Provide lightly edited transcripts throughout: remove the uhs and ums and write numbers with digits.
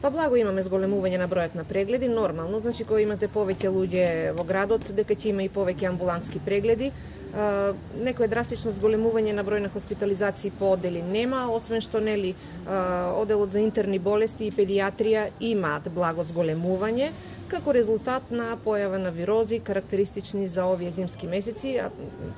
Па благо имаме зголемување на бројот на прегледи, нормално, значи кога имате повеќе луѓе во градот, дека ќе има и повеќе амбулантски прегледи. Некој драстично зголемување на број на хоспитализации по одели нема, освен што нели оделот за интерни болести и педиатрија имаат благо зголемување како резултат на појава на вирози карактеристични за овие зимски месеци,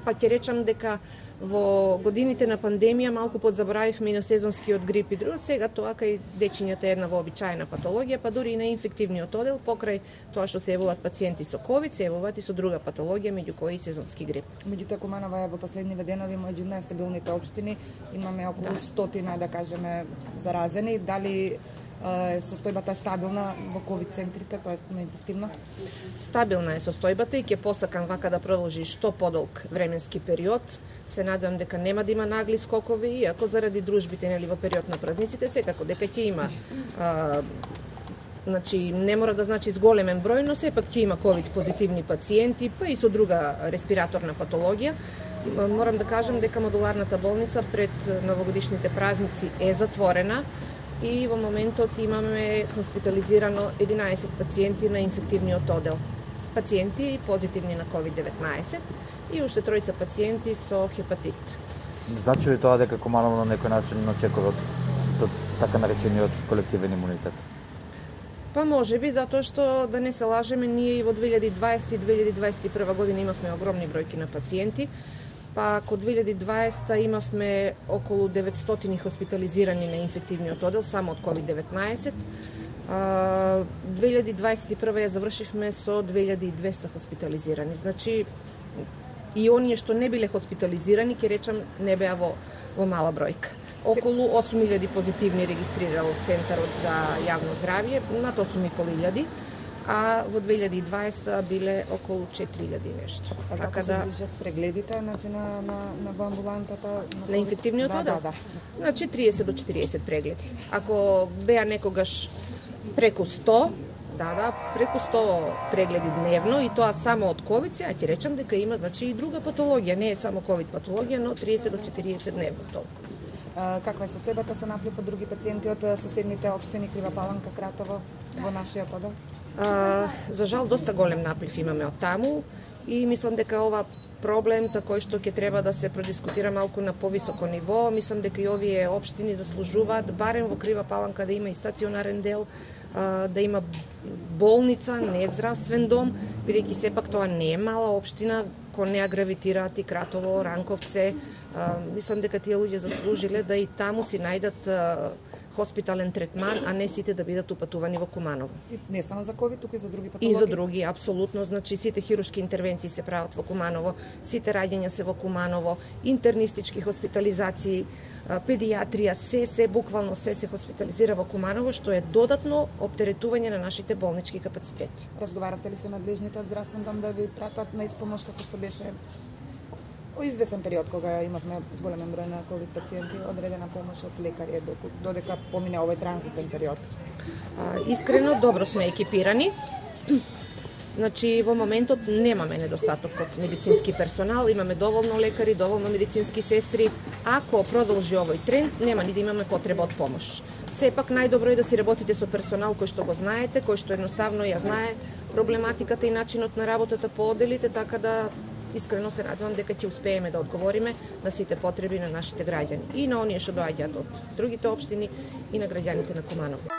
па ќе речам дека во годините на пандемија малку подзаборавивме и на сезонскиот грип и друго, сега тоа кај дечињата е една вообичаена патологија, па дури и на инфективниот одел, покрај тоа што се јавуваат пациенти со ковид, се јавуваат и со друга патологија, меѓу кои и сезонски грип. Меѓутоа Куманово е во последниве денови меѓу најстабилните општини, имаме околу 100, да кажеме, заразени. Дали состојбата е стабилна во ковид центрите, тоа е неинфективна? Стабилна е состојбата и ќе посакам вака да продолжи што подолг временски период. Се надевам дека нема да има нагли скокови, иако заради дружбите нели во период на празниците секако дека ќе има значи не мора да значи зголемен број, но сепак ќе има ковид позитивни пациенти, па и со друга респираторна патологија. Морам да кажам дека модуларната болница пред новогодишните празници е затворена и во моментот имаме хоспитализирано 11 пациенти на инфективниот одел. Пациенти позитивни на COVID-19 и уште тројца пациенти со хепатит. Значи ли тоа дека Куманово на некој начин очекува така наречениот колективен имунитет? Па може би, затоа што да не се лажеме, ние и во 2020 и 2021 година имавме огромни бројки на пациенти, па код 2020 имавме околу 900 хоспитализирани на инфективниот одел само од COVID-19. 2021 ја завршивме со 2200 хоспитализирани. Значи, и оние што не биле хоспитализирани, ќе речам, не беа во мала бројка. Околу 8000 позитивни регистрирал Центарот за јавно здравје, над 8500, а во 2020 биле околу 4000 нешто. А како се движат прегледите, значи на амбулантата? На инфективниот одел? Да. Значи 30 до 40 прегледи. Ако беа некогаш преку 100, преку 100 прегледи дневно и тоа само од ковид, сега ќе речам дека има значи и друга патологија, не е само ковид патологија, но 30 до 40 дневно толку. Каква е состојбата со наплив од други пациенти од соседните општини Крива Паланка, Кратово во нашиот одел? За жал доста голем наплив имаме од таму и мислам дека ова проблем за кој што ќе треба да се продискутира малку на повисоко ниво. Мислам дека и овие општини заслужуваат барем во Крива Паланка да има и стационарен дел, да има болница, не здравствен дом, бидејќи сепак тоа не е мала општина, кон неа гравитираат и Кратово, Ранковце. Мислам дека тие луѓе заслужиле да и таму си најдат хоспитален третман, а не сите да бидат упатувани во Куманово. И не само за ковид, туку и за други патологии? И за други, апсолутно. Значи, сите хируршки интервенции се прават во Куманово, сите раѓања се во Куманово, интернистички хоспитализации, педиатрија, се буквално се хоспитализира во Куманово, што е додатно оптеретување на нашите болнички капацитети. Разговаравте ли со надлежните од здравствен дом да ви пратат на испомош како што беше во извесен период кога имавме зголемен број на ковид пациенти, одредена помош од лекари додека помине овој транзитен период? Искрено, добро сме екипирани. Значи, во моментот немаме недостаток од медицински персонал, имаме доволно лекари, доволно медицински сестри. Ако продолжи овој тренд, нема ни да имаме потреба од помош. Сепак најдобро е да си работите со персонал кој што го знаете, кој што едноставно ја знае проблематиката и начинот на работата по оделите, така да искрено се надевам дека ќе успееме да одговориме на сите потреби на нашите граѓани и на оние што доаѓаат од другите општини и на граѓаните на Куманово.